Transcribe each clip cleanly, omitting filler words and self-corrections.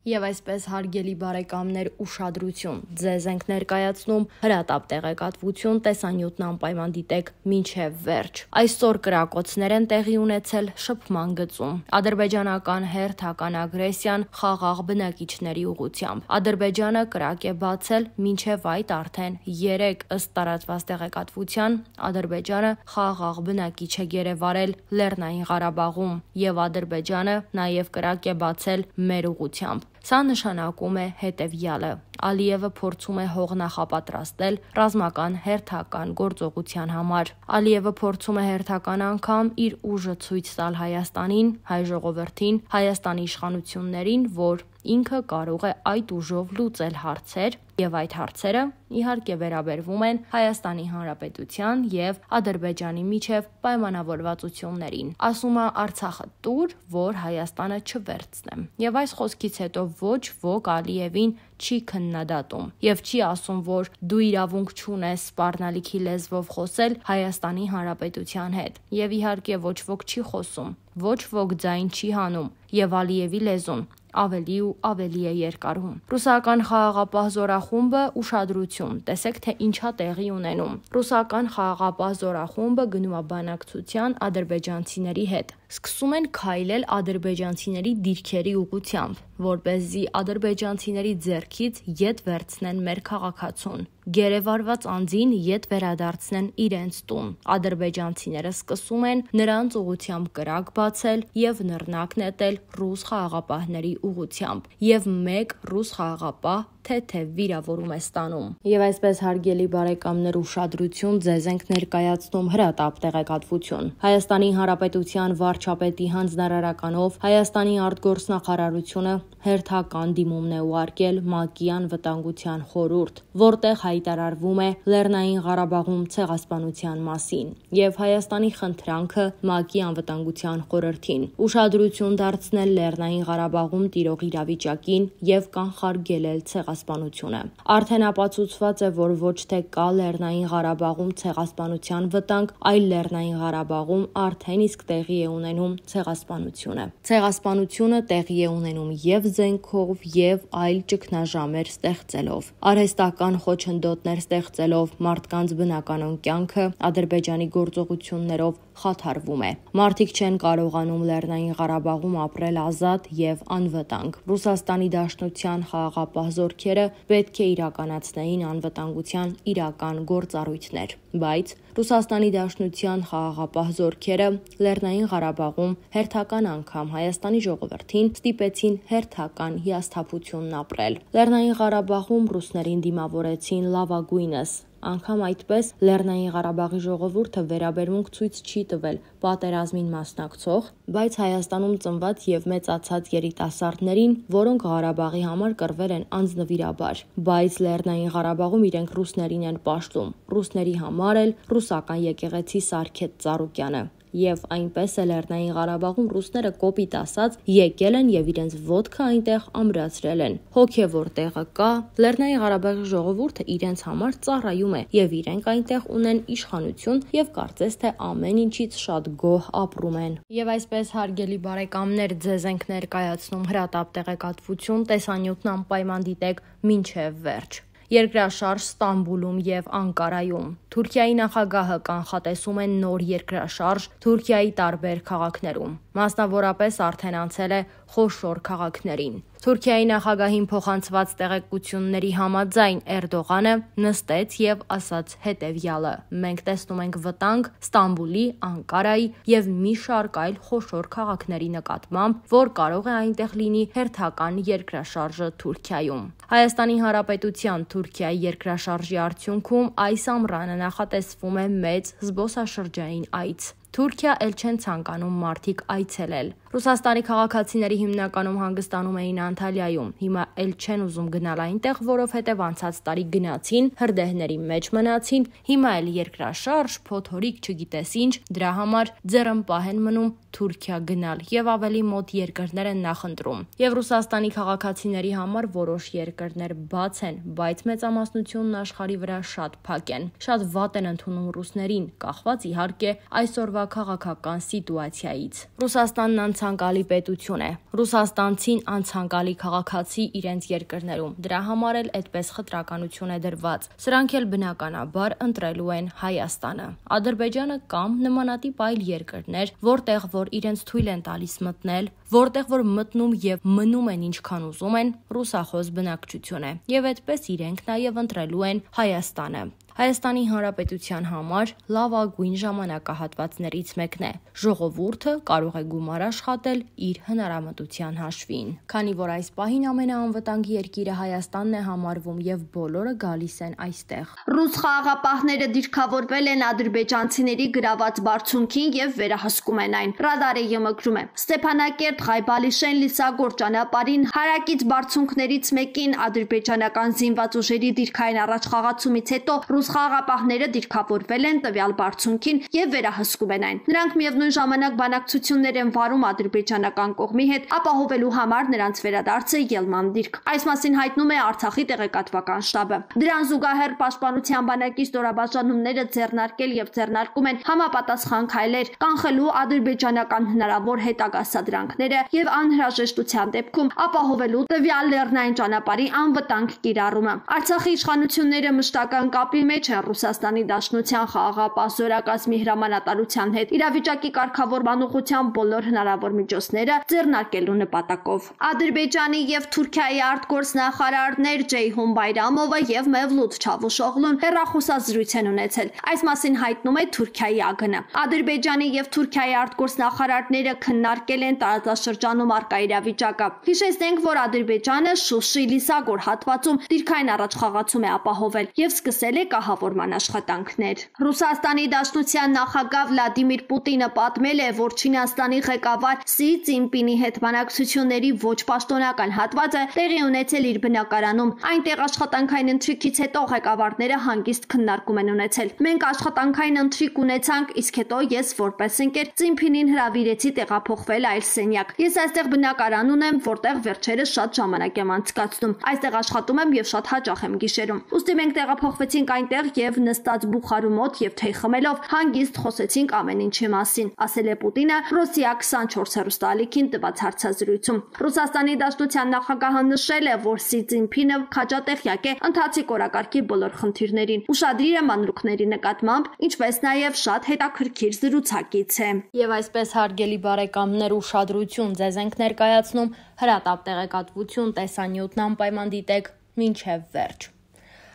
Եվ այսպես հարգելի բարեկամներ ուշադրություն, ձեզ ենք ներկայացնում հրատապ տեղեկատվություն, տեսանյութն անպայման դիտեք մինչև վերջ։ Այսօր կրակոցներ են տեղի ունեցել շփման գծում։ Ադրբեջանական հերթական ագրեսիան խաղաղ բնակիչների ուղղությամբ։ Ադրբեջանը կրակ է բացել, մինչև այդ արդեն 3 ըստ տարածված տեղեկատվության Ադրբեջանը խաղաղ բնակիչ է գերեվարել Լեռնային Ղարաբաղում եւ Ադրբեջանը նաեւ կրակ է բացել մեր ուղղությամբ։ Սա նշանակում է հետևյալը. Ալիևը փորձում է հող նախապատրաստել ռազմական հերթական գործողության համար։ Ալիևը փորձում է հերթական անգամ իր ուժը ցույց տալ Հայաստանին, հայ ժողովրդին, Հայաստանի իշխանություններին, որ ինքը կարող է այդ ուժով լուծել հարցեր, եւ այդ հարցերը իհարկե վերաբերվում են Հայաստանի Հանրապետության եւ Ադրբեջանի միջև պայմանավորվածություններին։ Ասում է Արցախը տուր, որ Հայաստանը չվերցնեմ։ Եվ այս խոսքից հետո ոչ ոք Ալիևին չի քննադատում եւ չի ասում, որ դու իրավունք չունես սպառնալիքի լեզվով խոսել Հայաստանի Հանրապետության հետ։ Եվ իհարկե ոչ ոք չի խոսում, ոչ ոք ձայն չի հանում եւ Ալիևի լեզուն ավելի ու ավելի է երկարում։ Ռուսական խաղաղապահ զորախումբը ուշադրություն, տեսեք թե ինչա տեղի ունենում։ Ռուսական խաղաղապահ զորախումբը գնում է բանակցության ադրբեջանցիների հետ։ Սկսում են քայլել ադրբեջանցիների դիրքերի ուղղությամբ, որպեսզի ադրբեջանցիների ձեռքից ետ վերցնեն մեր քաղաքացուն։ Գերեվարված անձին ետ վերադարձնեն իրենց տուն։ Ադրբեջանցիները սկսում են նրանց ուղղությամբ կրակ բացել եւ նռնակ նետել ռուս խաղաղապահների ուղղությամբ եւ մեկ ռուս խաղաղապահ թեթև վիրավորում է ստանում։ Եվ այսպես հարգելի բարեկամներ ուշադրություն, ձեզ ենք ներկայացնում հրատապ տեղեկատվություն։ Հայաստանի Հանրապետության վարչապետի հանձնարարականով Հայաստանի արտգործնախարարությունը հերթական դիմումն է ուղարկել ՄԱԿ-ի անվտանգության խորհուրդ, որտեղ հայտարարվում է Լեռնային Ղարաբաղում ցեղասպանության մասին եւ Հայաստանի խնդրանքը ՄԱԿ-ի անվտանգության խորհրդին ուշադրություն դարձնել Լեռնային Ղարաբաղում տիրող իրավիճակին եւ կանխարգելել ցեղասպանությունը։ Արդեն ապացուցված է, որ ոչ թե կա Լեռնային Ղարաբաղում ցեղասպանության վտանգ, այլ Լեռնային Ղարաբաղում արդեն իսկ տեղի է ունենում ցեղասպանությունը։ Ցեղասպանությունը տեղի է ունենում եւ զենքով եւ այլ ճգնաժամեր ստեղծելով, արհեստական խոչընդոտներ ստեղծելով, մարդկանց բնականon կյանքը Ադրբեջանի գործողություններով խաթարվում է։ Մարդիկ չեն կարողանում Լեռնային Ղարաբաղում ապրել ազատ եւ անվտանգ։ Ռուսաստանի Դաշնության խաղաղապահ զորքերը պետք է իրականացնեին անվտանգության իրական գործառույթներ, բայց Ռուսաստանի Դաշնության խաղաղապահ զորքերը Լեռնային Ղարաբաղում հերթական անգամ Հայաստանի ժողովրդին ստիպեցին հերթական հիասթափությունն ապրել։ Լեռնային Ղարաբաղում ռուսներին դիմավորեցին լավագույնս։ Անգամ այդպես Լեռնային Ղարաբաղի ժողովուրդը վերաբերմունք ցույց չի տվել պատերազմին մասնակցող, բայց Հայաստանում ծնված եւ մեծացած երիտասարդներին, որոնք Ղարաբաղի համար կռվել են անձնվիրաբար, բայց Լեռնային Ղարաբաղում իրենք ռուսներին են պաշտում։ Ռուսների համար էլ ռուսական եկեղեցի Սարգեթ Ծառուկյանը։ Եվ այնպես է Լեռնային Ղարաբաղում ռուսները կոպիտ ասած եկել են եւ իրենց ոդկը այնտեղ ամրացրել են։ Հոգեվոր տեղը կա, Լեռնային Ղարաբաղի ժողովուրդը իրենց համար ծառայում է եւ իրենք այնտեղ ունեն իշխանություն եւ կարծես թե ամեն ինչից շատ գոհ ապրում են։ Եվ այսպես հարգելի բարեկամներ, ձեզ ենք ներկայացնում հրատապ տեղեկատվություն, տեսանյութն անպայման դիտեք մինչև վերջ։ Երկրաշարժ Ստամբուլում եւ Անկարայում։ Թուրքիայի նախագահը կանխատեսում է նոր երկրաշարժ Թուրքիայի տարբեր քաղաքներում։ Մասնավորապես արդեն անցել է խոշոր քաղաքներին։ Թուրքիայի նախագահին փոխանցված տեղեկությունների համաձայն Էրդողանը նստեց եւ ասաց հետեւյալը. մենք տեսնում ենք վտանգ Ստամբուլի, Անկարայի եւ մի շարք այլ խոշոր քաղաքների նկատմամբ, որ կարող է այնտեղ լինի հերթական երկրաշարժը Թուրքիայում։ Հայաստանի Հանրապետության Թուրքիայի երկրաշարժի արդյունքում այս ամռանը նախատեսվում է մեծ զբոսաշրջային այց։ Թուրքիա էլ չեն ցանկանում մարդիկ այցելել։ Ռուսաստանի քաղաքացիների հիմնականում հանգստանում էին Անտալիայում, հիմա էլ չեն ուզում գնալ այնտեղ, որովհետև անցած տարի գնացին, հրդեհների մեջ մնացին, հիմա էլ երկրաշարժ, փոթորիկ չգիտես ինչ, դրա համար ձեռնպահ են մնում Թուրքիա գնալ եւ ավելի մոտ երկրներ են նախընտրում։ Եվ Ռուսաստանի քաղաքացիների համար որոշ երկրներ բաց են, բայց մեծամասնությունն աշխարհի վրա շատ փակ են։ Շատ վատ են ընդունում ռուսներին, կախված իհարկե այսօրվա քաղաքական սիտուացիայից։ Ռուսաստանն անցանկալի պետություն է։ Ռուսաստանցին անցանկալի քաղաքացի իրենց երկրներում։ Դրա համար էլ այդպես խտրականություն է դրված։ Սրանք էլ բնականաբար ընտրելու են Հայաստանը։ Ադրբեջանը կամ նմանատիպ այլ երկրներ, որտեղ որ իրենց թույլ են տալիս մտնել, որտեղ որ մտնում եւ մնում են ինչքան ուզում են, ռուսախոս բնակչություն է։ Եվ այդպես իրենք նաեւ ընտրելու են Հայաստանը։ Հայաստանի Հանրապետության համար լավագույն ժամանակահատվածներից մեկն է։ Ժողովուրդը կարող է գումար աշխատել իր հնարամտության հաշվին։ Քանի որ այս պահին ամենաանվտանգ երկիրը Հայաստանն է համարվում եւ բոլորը գալիս են այստեղ։ Ռուս խաղաղապահները դիրքավորվել են ադրբեջանցիների գրաված բարձունքին եւ վերահսկում են այն։ Ռադարը մկրում է։ Ստեփանակերտ Ղայբալիշեն Լիսագոր ճանապարհին հարակից բարձունքներից մեկին ադրբեջանական զինված ուժերի դիրքային առաջխաղացումից հետո ռուս խաղաղապահները դիրքավորվել են տվյալ բարձունքին եւ վերահսկում են այն։ Նրանք միևնույն ժամանակ բանակցություններ են վարում ադրբեջանական կողմի հետ, ապահովելու համար նրանց վերադարձը ելման դիրք։ Այս մասին հայտնում է Արցախի տեղեկատվական շտաբը։ Դրան զուգահեռ պաշտպանության բանակի ստորաբաժանումները ձեռնարկել եւ ձեռնարկում են համապատասխան քայլեր, կանխելու ադրբեջանական հնարավոր հետագա սադրանքները եւ անհրաժեշտության դեպքում ապահովելու տվյալ լեռնային ճանապարհի անվտանգ կիրառումը։ Արցախի իշխանությունները մշտական կապի մեջ է Ռուսաստանի Դաշնության խաղաղապահ զորակազմի հրամանատարության հետ իրավիճակի կարգավորման ուղղությամբ բոլոր հնարավոր միջոցները ձեռնարկելու նպատակով։ Ադրբեջանի եւ Թուրքիայի արտգործնախարարներ Ceyhun Bayramova եւ Mevlut Çavuşoğlu'ն հեռախոսազրույց են ունեցել։ Այս մասին հայտնում է Թուրքիայի ԱԳՆ։ Ադրբեջանի եւ Թուրքիայի արտգործնախարարները քննարկել են տարածաշրջանում առկա իրավիճակը։ Հիշեցնենք, որ Ադրբեջանը Շուշի-Լիսագոր հատվածում դիրքային առաջխաղացում է ապահովել եւ սկսել է կահավորման աշխատանքներ։ Ռուսաստանի Դաշնության նախագահ Վլադիմիր Պուտինը պատմել է, որ Չինաստանի ղեկավար Սի Ցինպինի հետ բանակցությունների ոչ պաշտոնական հատվածը տեղի ունեցել իր բնակարանում։ Այնտեղ աշխատանքային ընթրիքից հետո ղեկավարները հանգիստ քննարկում են ունեցել։ Մենք աշխատանքային ընթրիք ունեցանք, իսկ հետո ես որպես ընկեր Ցինպինին հրավիրեցի տեղափոխվել այլ սենյակ։ Ես այստեղ բնակարան ունեմ, որտեղ վերջերս շատ ժամանակ եմ անցկացնում։ Այստեղ աշխատում եմ եւ շատ հաճախ եմ գիշերում։ Ուստի մենք տեղափոխվեցինք այնտեղ եւ նստած բուխարու մոտ եւ թեյ խմելով հանգիստ խոսեցինք ամեն ինչի մասին, ասել է Պուտինը Ռոսիա 24 հեռուստաալիքին տված հարցազրույցում։ Ռուսաստանի Դաշնության նախագահը նշել է, որ Սի Ցինպինը քաջատեղյակ է ընթացիկ օրակարգի բոլոր խնդիրներին, ուշադիր է մանրուքների նկատմամբ, ինչպես նաեւ շատ հետաքրքիր զրուցակից է։ Եվ այսպես հարգելի բարեկամներ, ուշադրություն, ձեզ ենք ներկայացնում հրատապ տեղեկատվություն, տեսանյութն անպայման դիտեք մինչև վերջ։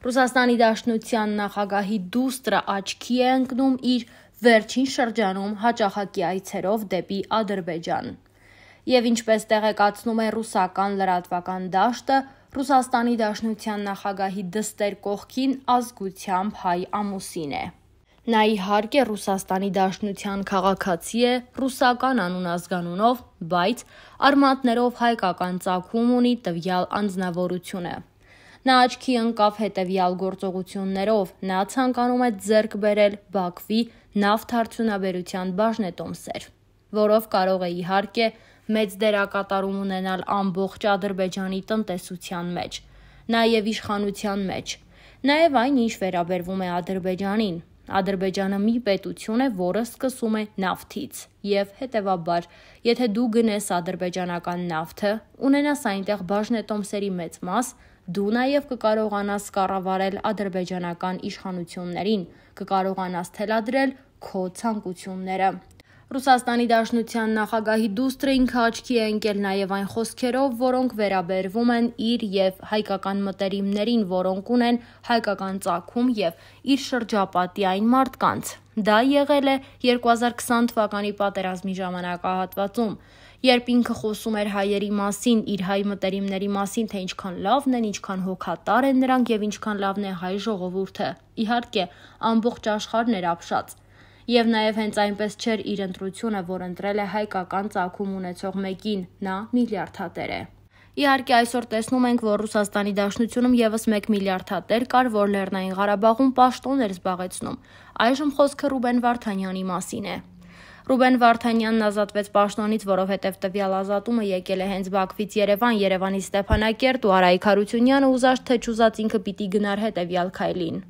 Ռուսաստանի Դաշնության նախագահի դուստրը աչքի է ընկնում իր վերջին շրջանում հաճախակի այցերով դեպի Ադրբեջան։ Եվ ինչպես տեղեկացնում է ռուսական լրատվական դաշտը, Ռուսաստանի Դաշնության նախագահի դստեր կողքին ազգությամբ հայ ամուսին է։ Նա իհարկե Ռուսաստանի Դաշնության քաղաքացի է, ռուսական անուն-ազգանունով, բայց արմատներով հայկական ծագում ունի տվյալ անձնավորությունը։ Նա աչքի ընկավ հետևյալ գործողություններով, նա ցանկանում է ձեռք բերել Բաքվի նավթարդյունաբերության բաժնետոմսեր, որով կարող է իհարկե մեծ դերակատարում ունենալ ամբողջ Ադրբեջանի տնտեսության մեջ, նաև իշխանության մեջ, նաև այն, ինչ վերաբերվում է Ադրբեջանին։ Ադրբեջանը մի պետություն է, որը սկսում է նավթից, եւ հետեւաբար, եթե դու գնես ադրբեջանական նավթը, ունենաս այնտեղ բաժնետոմսերի մեծ մաս, դու նաև կկարողանաս կառավարել ադրբեջանական իշխանություններին, կկարողանաս թելադրել քո ցանկությունները։ Ռուսաստանի Դաշնության նախագահի դուստրը ինքը աչքի է ընկել նաև այն խոսքերով, որոնք վերաբերվում են իր եւ հայկական մտերիմներին, որոնք ունեն հայկական ծագում եւ իր շրջապատի այն մարդկանց։ Դա եղել է 2020 թվականի պատերազմի ժամանակահատվածում, երբ ինքը խոսում էր հայերի մասին, իր հայ մտերիմների մասին, թե ինչքան լավն են, ինչքան հոգատար են նրանք եւ ինչքան լավն է հայ ժողովուրդը։ Իհարկե, ամբողջ աշխարհն էր ապշած։ Եվ նաև հենց այնպես չէր իր ընտրությունը, որ ընտրել է հայկական ծագում ունեցող մեկին, նա միլիարդատեր է։ Իհարկե այսօր տեսնում ենք, որ Ռուսաստանի Դաշնությունում եւս 1 միլիարդատեր կար, որ Լեռնային Ղարաբաղում պաշտոն էր զբաղեցնում։ Այժմ խոսքը Ռուբեն Վարդանյանի մասին է։ Ռուբեն Վարդանյանն ազատվեց պաշտոնից, որովհետև տվյալ ազատումը եկել է հենց Բաքվից Երևան, Երևանից Ստեփանակերտ ու Արայք Հարությունյանը ուզած թե չուզած ինքը պիտի գնար հետևյալ քայլին։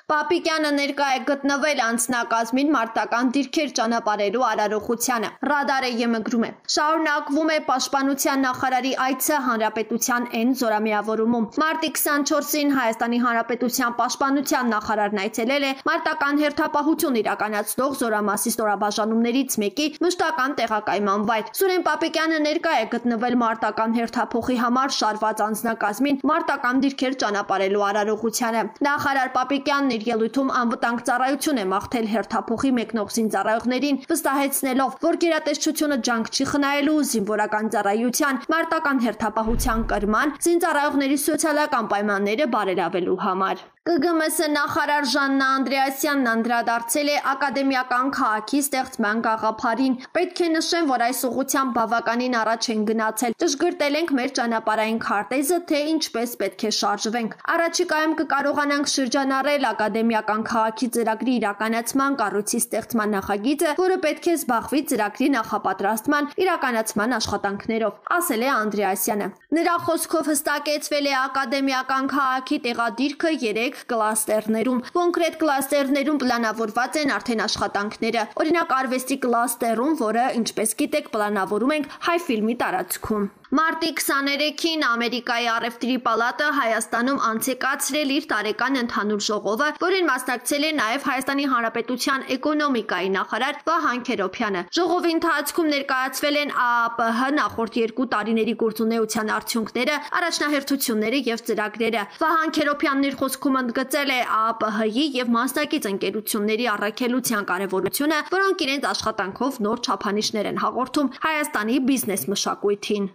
Պապիկյանը ներկա է գտնվել անձնակազմին մարտական դիրքեր ճանապարհելու արարողությանը։ Ռադարը ԵՄ-գրում է. շարունակվում է պաշտպանության նախարարի այցը հանրապետության N զորամիավորումում։ Մարտի 24-ին Հայաստանի Հանրապետության պաշտպանության նախարարն այցելել է մարտական հերթապահություն իրականացնող զորամասի ստորաբաժանումներից մեկի մշտական տեղակայման վայր։ Սուրեն Պապիկյանը ներկա է գտնվել մարտական հերթափոխի համար շարված անձնակազմին մարտական դիրքեր ճանապարհելու արարողությանը։ Նախարար Պապիկյանն իր ելույթում անվտանգ ծառայություն է մաղթել հերթափոխի մեկնող զինծառայողներին, վստահեցնելով, որ գերատեսչությունը ջանք չի խնայելու զինվորական ծառայության, մարտական հերթապահության կրման, զինծառայողների սոցիալական պայմանները բարելավելու համար։ ԿԳՄՍ նախարար Ժաննա Անդրեասյանն անդրադարձել է ակադեմիական քաղաքի ստեղծման գաղափարին։ Պետք է նշեմ, որ այս ուղղությամբ բավականին առաջ են գնացել։ Ճշգրտել ենք մեր ճանապարհային քարտեզը, թե ինչպես պետք է շարժվենք։ Առաջիկայում կկարողանանք շրջանառել ակադեմիական քաղաքի ծրագրի իրականացման կառույցի ստեղծման նախագիծը, որը պետք է զբաղվի ծրագրի նախապատրաստման իրականացման աշխատանքներով, ասել է Անդրեասյանը։ Նրա խոսքով հստակեցվել է ակադեմիական քաղաքի տեղադիրքը 3 կլաստերներում։ Կոնկրետ կլաստերներում պլանավորված են արդեն աշխատանքները։ Օրինակ արվեստի կլաստերում, որը, ինչպես գիտեք, պլանավորում ենք Հայֆիլմի տարածքում։ Մարտի 23-ին Ամերիկայի առևտրի պալատը Հայաստանում անցեկացրել իր տարեկան ընդհանուր ժողովը, որին մասնակցել է նաև Հայաստանի Հանրապետության էկոնոմիկայի նախարար Վահան Քերոբյանը։ Ժողովի ընթացքում ներկայացվել են ԱԱՊՀ նախորդ 2 տարիների գործունեության արդյունքները, առաջնահերթությունները եւ ծրագրերը։ Վահան Քերոբյանն իր խոսքում ընդգծել է ԱԱՊՀ-ի եւ մասնակից ընկերությունների առաքելության կարեւորությունը, որոնք իրենց աշխատանքով նոր չափանիշներ են հաղորդում Հայաստանի բիզնես մշակույթին։